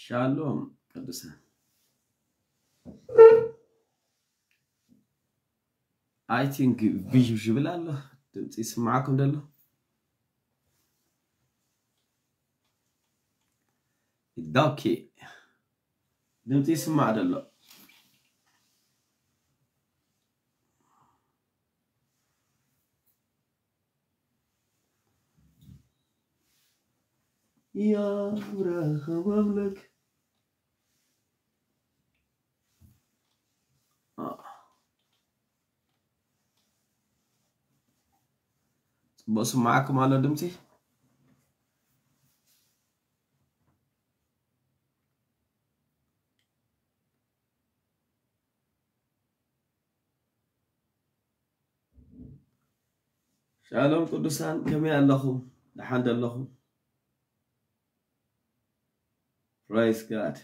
ሻሎም ቅዱሳን። I think ብዥብዥብል ኣሎ። ድምፂ ይስማዓኩም ደሎ? ኦኬ። ድምፂ ይስማዕ ደሎ? يا أبرهام أملك. آه. ጽቡቕ ስማዓኩም ኣሎ ድምፂ? ሻሎም ቅዱሳን፣ ከመይ ኣለኹም? ደሓን ዶ ኣለኹም? Praise God.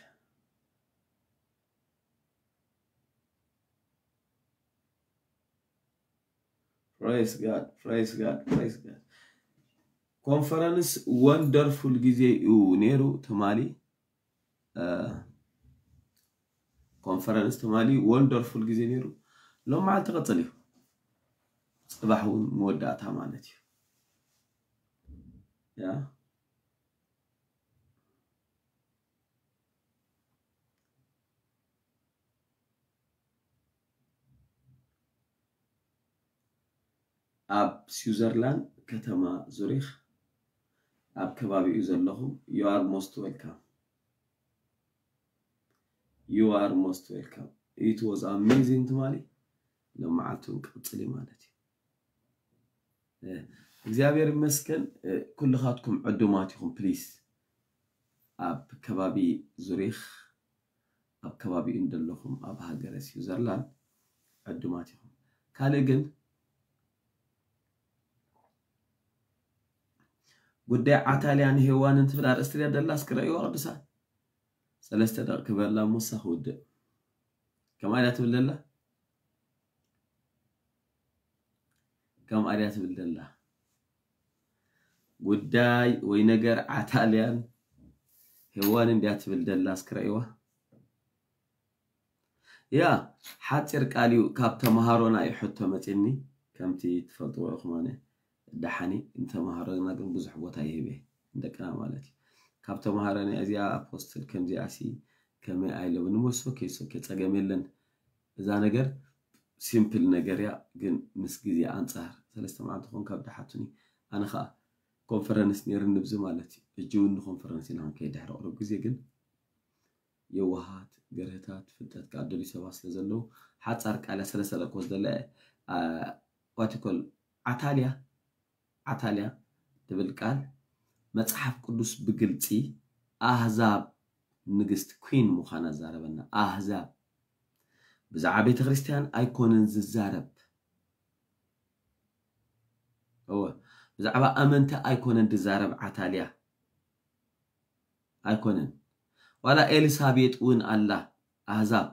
Praise God. Praise God. Praise God. ኮንፈረንስ ወንደርፉል ግዜ እዩ ነይሩ ትማሊ። ኮንፈረንስ ትማሊ ወንደርፉል ግዜ ነይሩ። ሎም መዓልቲ ቀፅል እዩ። ፅባሕ እውን መወዳእታ ማለት እዩ። ያ ኣብ ስዊዘርላንድ ከተማ ዙሪኽ ኣብ ከባቢኡ ዘለኹም you are most welcome. You are most welcome. It was amazing ትማሊ። ሎም መዓልቲ እውን ቀፅል እዩ ማለት እዩ። እ፣ እግዚኣብሔር ይመስገን። እ፣ ኩልኻትኩም ዕዱማት ኢኹም። ፕሊስ ኣብ ከባቢ ዙሪኽ ኣብ ከባቢኡ እንደለኹም ኣብ ሃገረ ስዊዘርላንድ ዕዱማት ኢኹም። ካልእ ግን ጉዳይ ዓታልያን ሄዋንን ትብል ኣርእስቲ ድያ ደላ? እስኪ ረእይዋ ቅዱሳን። ሰለስተ ደቂ ክበላ ሙሳ ክውድእ። ከምኣ ድያ ትብል ደላ? ከምኣ ድያ ትብል ደላ? ጉዳይ ወይ ነገር ዓታልያን ሄዋንን ድያ ትብል ደላ? እስኪ ረእይዋ። ያ ሓፂር ቃል እዩ። ካብ ተምሃሮና እዩ ሕቶ መፂኒ። ከምቲ ትፈልጥዎ ኢኹም ኣነ ደሓኒ ንተምሃሮና ግን ብዙሕ ቦታ ይህብ እየ፣ ንደቅና ማለት እዩ። ካብ ተምሃሮና እዚኣ ኣፖስትል ከምዚኣ ሲ ከመይ ኣይለብን። እሞ ሶኬ ሶኬ ጸገም የለን። እዛ ነገር ሲምፕል ነገር እያ፣ ግን ምስ ግዜ ኣንጻር ሰለስተ መዓልቲ ኮን ካብ ደሓቱኒ ኣነ ኸኣ ኮንፈረንስ ነይርኒ ብዚ ማለት እዩ። እጂ እውን ንኮንፈረንስ ኢና ክንከይድ ድሕሪ ቁሩብ ግዜ ግን የዋሃት ገርህታት ፍልጠት ከኣ ደልዩ ሰባት ስለ ዘለዉ ሓጻር ቃል እያ ሰለስተ ደቂ ወስደላ እየ። ዋቲኮል ዓታልያ ዓታልያ ትብል ቃል መጽሓፍ ቅዱስ ብግልጺ ኣህዛብ ንግስቲ ኩን ምዃና ዛረበና። ኣህዛብ ብዛዕባ ቤተ ክርስቲያን ኣይኮነን ዝዛረብ። እወ ብዛዕባ ኣመንቲ ኣይኮነን ዝዛረብ ዓታልያ ኣይኮነን። ዋላ ኤልሳቤጥ እውን ኣላ ኣህዛብ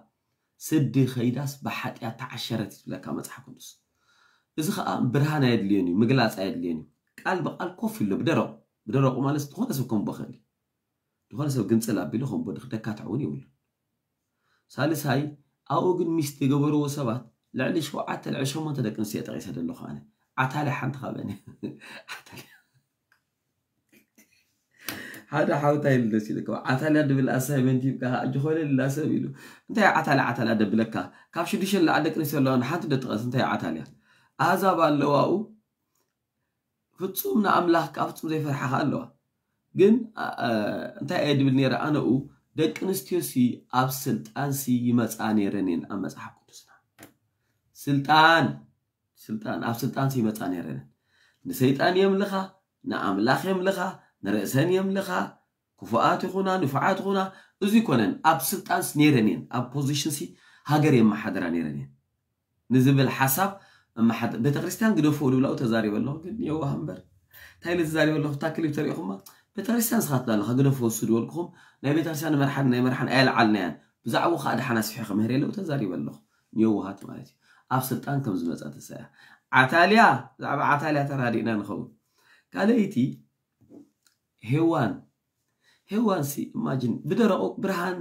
ስዲ ኸይዳስ ብሓጢኣት ተዓሸረት እዩ ዝብለካ መጽሓፍ ቅዱስ። እዚ ኸኣ ብርሃን ኣየድልዮን እዩ፣ ምግላጽ ኣየድልዮን እዩ። ቃል ብቃል ኮፍ ኢሎ ብደረቑ፣ ብደረቑ ማለት ዝኾነ ሰብ ከንቦ ኸእል እዩ። ዝኾነ ሰብ ግንጽል ኣቢሉ ከንቦ ደካትዕ እውን የብሉን። ሳልሳይ ኣብኡ ግን ሚስት የገበርዎ ሰባት ልዕሊ ሸውዓተ ልዕሊ ሸሞንተ ደቂ ኣንስትዮ ጠቂሰ ዘለኹ ኣነ። ዓታልያ ሓንቲ ካብአን ዓታልያ ሓደ ሓውታ ኢሉ ደስ ኢልካ ዓታልያ ድብል ኣሳይመንት ይብካ እጅኾነ ልላ ሰብ ኢሉ እንታይ ዓታልያ ዓታልያ ደብለካ ካብ ሽዱሽተ ንላዕሊ ደቂ ኣንስትዮ ኣለዋ ሓንቲ ደጥቀስ እንታይ ዓታልያ ኣህዛብ ኣለዋኡ ፍጹም ንኣምላኽ ካብ ፍጹም ዘይፈርሓ ከኣ ኣለዋ ግን እንታይ እየ ድብል ነይረ ኣነኡ ደቂ ኣንስትዮ ሲ ኣብ ስልጣን ሲ ይመፃ ነይረን እየን ኣብ መፅሓፍ ቅዱስና ስልጣን ስልጣን ኣብ ስልጣን ይመፃ ነይረን ንሰይጣን የምልኻ ንኣምላኽ የምልኻ ንርእሰን የምልኻ ክፉኣት ይኹና ንፉዓት ይኹና እዚ ይኮነን ኣብ ስልጣንስ ነይረን እየን ኣብ ፖዚሽንሲ ሃገር የመሓድራ ነይረን እየን ንዝብል ሓሳብ ቤተክርስትያን ግደፎ ድብላው ተዛሪበ ኣለኹ ግን የዋህ እምበር እንታይ ኢለ ተዛሪበ ኣለኹ እታ ክሊፕ ተሪእኹማ ቤተክርስትያን ስኻት ኣለኻ ግደፎ እሱ ድበልኩኹም ናይ ቤተክርስትያን መርሓን ናይ መርሓን ኣየልዓልናያን ብዛዕባኡ ከዓ ደሓን ኣስፊሐ ክምህር የለው ተዛሪበ ኣለኹ ንየዋሃት ማለት እዩ ኣብ ስልጣን ከም ዝመፃ ተሳያ ዓታልያ ብዛዕባ ዓታልያ ተራዲእና ንኸውን ካልኣይቲ ሄዋን ሄዋንሲ ኢማጂን ብደረቑ ብርሃን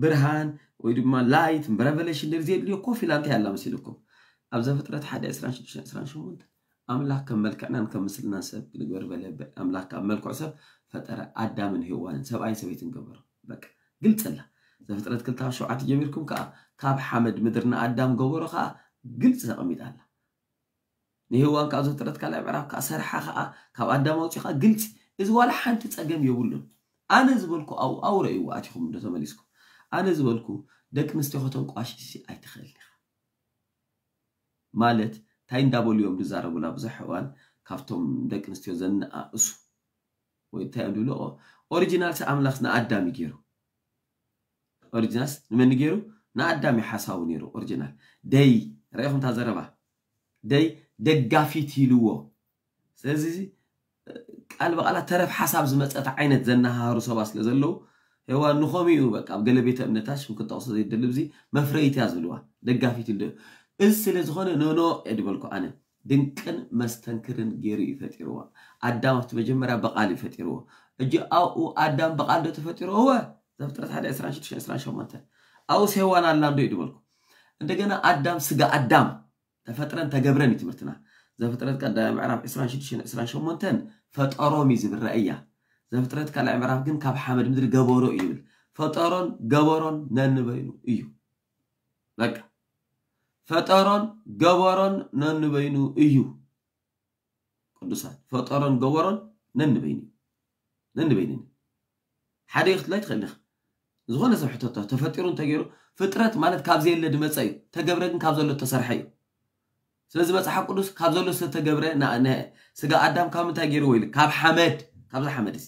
ብርሃን ወይ ድማ light revelation ድር ዘድልዮ ኮፍ ኢላ እንታይ ኣላ መሲልኩም? ኣብ ዘፍጥረት ሓደ ዕስራን ሽዱሽተን ዕስራን ሸሞንተን ኣምላኽ ከም መልክዕናን ከም ምስልናን ሰብ ንግበር በለ። ኣምላኽ ካብ መልክዑ ሰብ ፈጠረ፣ ኣዳምን ሄዋንን ሰብኣይን ሰበይትን ገበሮ። በቃ ግልጽ ኣላ። ዘፍጥረት ክልተ ካብ ሸውዓተ ጀሚርኩም ከዓ ካብ ሓመድ ምድሪ ንኣዳም ገበሮ ከዓ ግልጽ ተቐሚጣ ኣላ። ንሄዋን ካብ ዘፍጥረት ካልኣይ ምዕራፍ ከዓ ሰርሓ ከዓ ካብ ኣዳም ኣውፂኡ ከዓ ግልፂ። እዚ ዋላ ሓንቲ ፀገም የብሉን። ኣነ ዝበልኩ ኣብኡ ኣብኡ ረእይዎ ኣቲኹም እንዶ ተመሊስኩም። ኣነ ዝበልኩ ደቂ ኣንስትዮ ከተንቋሽሽ ኣይትኽእልን ኢኻ። ማለት እንታይ እንዳበሉ እዮም ዝዛረቡላ ብዙሕ እዋን ካብቶም ደቂ ኣንስትዮ ዘነኣእሱ ወይ እንታይ እዮም ዝብሉ ኦሪጂናል ኣምላኽ ንኣዳም እዩ ገይሩ። ኦሪጂናልስ ንመን ገይሩ? ንኣዳም እዩ ሓሳቡ ነይሩ። ኦሪጂናል ደይ ረኢኹም እታ ዘረባ ደይ ደጋፊት ኢልዎ። ስለዚ ቃል ብቃላት ተረፍ ሓሳብ ዝመፀት ዓይነት ዘናሃሩ ሰባት ስለ ዘለዉ ሄዋን ንኸምኡ እዩ በቃ ኣብ ገለ ቤተ እምነታት ሽም ክጠቕሶ ዘይደሊ እዚ መፍረይት እያ ዝብልዋ ደጋፊት ኢሉ እዚ ስለ ዝኾነ ኖኖ እየ ዝበልኩ ኣነ። ድንቅን መስተንክርን ገይሩ እዩ ፈጢርዎ። ኣዳም ኣብቲ መጀመርያ ብቃል እዩ ፈጢርዎ። እጂ ኣብኡ ኣዳም ብቃል ዶ ተፈጢሩ? እወ። ዘፍጥረት ሓደ ዕስራን ሽዱሽተን ዕስራን ሸሞንተን ኣብኡስ ሄዋን ኣላ እንዶ እዩ ዝበልኩ። እንደገና ኣዳም ስጋ ኣዳም ተፈጥረን ተገብረን እዩ ትምህርትና። ዘፍጥረት ቀዳማይ ምዕራፍ ዕስራን ሽዱሽተን ዕስራን ሸሞንተን ፈጠሮም እዩ ዝብል ራእያ። ዘፍጥረት ካልኣይ ምዕራፍ ግን ካብ ሓመድ ምድሪ ገበሮ እዩ ይብል። ፈጠሮን ገበሮን ነንበይኑ እዩ። በቃ ፈጠሮን ገበሮን ነንበይኑ እዩ። ቅዱሳን ፈጠሮን ገበሮን ነንበይኑ እዩ። ነንበይኑ እዩ። ሓደ ክትብላ ኣይትኽእል ኢኻ። ዝኾነ ሰብ ሕተቶ ተፈጢሩ እንተገይሩ ፍጥረት ማለት ካብ ዘየለ ዝመፀ እዩ። ተገብረ ግን ካብ ዘሎ ተሰርሐ እዩ። ስለዚ መፅሓፍ ቅዱስ ካብ ዘሎ ዝተተገብረ ና- ነ- ስጋ ኣዳም ካብ ምንታይ ገይርዎ ኢሉ ካብ ሓመድ ካብዛ ሓመድ እዚ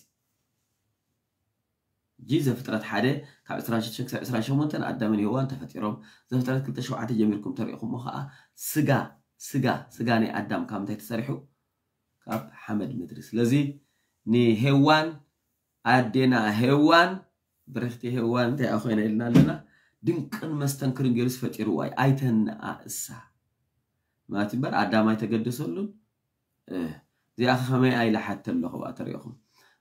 ጂ ዘፍጥረት ሓደ ካብ ዕስራን ሽዱሽተን ክሳብ ዕስራን ሸሞንተን ኣዳምን ሄዋን ተፈጢሮም። ዘፍጥረት ክልተ ሸውዓተ ጀሚርኩም ተሪእኹሞ ከዓ ስጋ ስጋ ስጋ ናይ ኣዳም ካብ ምንታይ ተሰሪሑ ካብ ሓመድ ምድሪ። ስለዚ ንሄዋን ኣዴና ሄዋን ብርኽቲ ሄዋን እንታይ ኮይና ኢልና ኣለና። ድንቅን መስተንክርን ገይሩስ ፈጢርዋ እዩ ኣይተንኣእሳ ማለት እምበር ኣዳም ኣይተገደሰሉን። እዚኣ ከመይ ኢላ ሓተ ኣለኹ ብኣ ተሪእኹም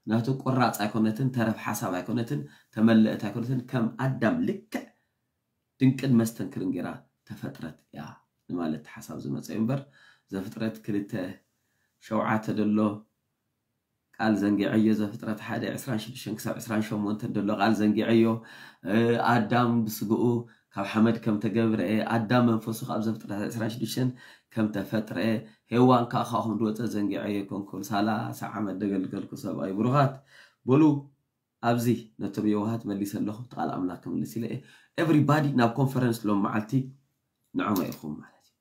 ናቱ ቁራፅ ኣይኮነትን ተረፍ ሓሳብ ኣይኮነትን ተመለእት ኣይኮነትን ከም ኣዳም ልክዕ ድንቅን መስተንክርን ገይራ ተፈጥረት እያ ንማለት ሓሳብ ዝመፀ እዩ እምበር ዘፍጥረት ክልተ ሸውዓተ ደሎ ቃል ዘንጊዐዮ ዘፍጥረት ሓደ ዕስራን ሽዱሽተን ክሳብ ዕስራን ሸሞንተን ደሎ ቃል ዘንጊዐዮ ኣዳም ብስግኡ ካብ ሓመድ ከም ተገብረ ኣዳም መንፈሱ ካብ ዘፍጥረት ዕስራን ሽዱሽተን ከም ተፈጥረ ሄዋን ከዓ ካብኹም ድወፀ ዘንጊዐዮ ኣይኮንኩን ሰላሳ ዓመት ደገልገልኩ ሰብኣይ ብሩኻት በሉ ኣብዚ ነቶም የዋሃት መሊሰ ኣለኹ እቲ ቃል ኣምላኽ ክምልስ ኢለ everybody ናብ ኮንፈረንስ ሎም መዓልቲ ንዕሞ ኢኹም ማለት እዩ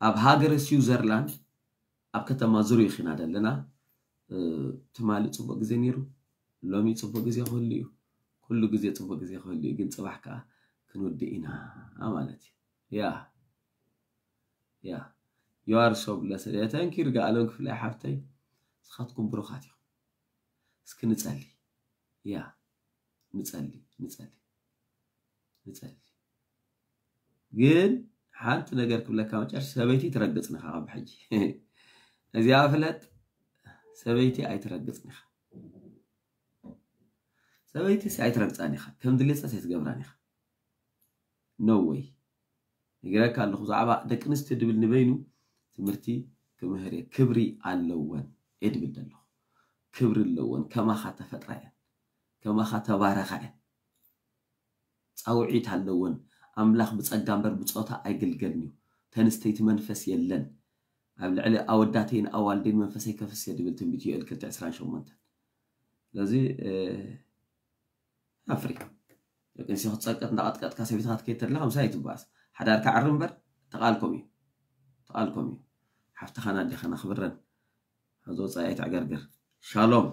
ኣብ ሃገረ ስዊዘርላንድ ኣብ ከተማ ዙሪክ ኢና ዘለና ትማሊ ፅቡቅ ግዜ ነይሩ ሎሚ ፅቡቅ ግዜ ክህሉ እዩ ኩሉ ግዜ ፅቡቅ ግዜ ክህሉ እዩ ግን ፅባሕ ከዓ ክንውድእ ኢና ማለት እዩ ያ ያ you are so blessed thank you ርጋኣለም ክፍላይ ሓፍተይ ንስኻትኩም ብሩኻት ኢኹም እስኪ ንፀሊ ያ ንፀሊ ንፀሊ ንፀሊ ግን ሓንቲ ነገር ክብለካ መጨረሻ ሰበይቲ ትረግፅኒ ካብ ሕጂ እዚኣ ፍለጥ ሰበይቲ ኣይትረግፅኒ ኢኻ ሰበይቲ ሲ ኣይትረግፃን ኢኻ ከም ድሌትካ ኣይትገብራን ኢኻ no way ነጊረካ ኣለኹ ብዛዕባ ደቂ ኣንስትዮ ድብል ንበይኑ ትምህርቲ ክምህር እየ ክብሪ ኣለወን እየ ድብል ዘለኹ ክብሪ ኣለወን ከማኻ ተፈጥራ እየን ከማኻ ተባረኻ እየን ፃውዒት ኣለወን ኣምላኽ ብፀጋ እምበር ብፆታ ኣይግልገልን እዩ ተንስተይቲ መንፈስ የለን ኣብ ልዕሊ ኣወዳተይን ኣዋልደይን መንፈሰይ ከፍስ እየ ድብል ትንቢት ዮኤል ክልተ ዕስራን ሸሞንተን ስለዚ ኣፍሪ ደቂ ኣንስትዮ ክትፀቅጥ እንዳቐጥቀጥካ ሰበይትኻ ትከይድ ተለኻ ምሳይ ኣይትበኣስ ሓዳርካ ዕሪ እምበር ተቓልኮም እዩ ተቓልኮም እዩ ሓፍትኻን ኣዴኻን ኣኽብረን ኣብዚ ወፃኢ ኣይትዕገርግር ሻሎም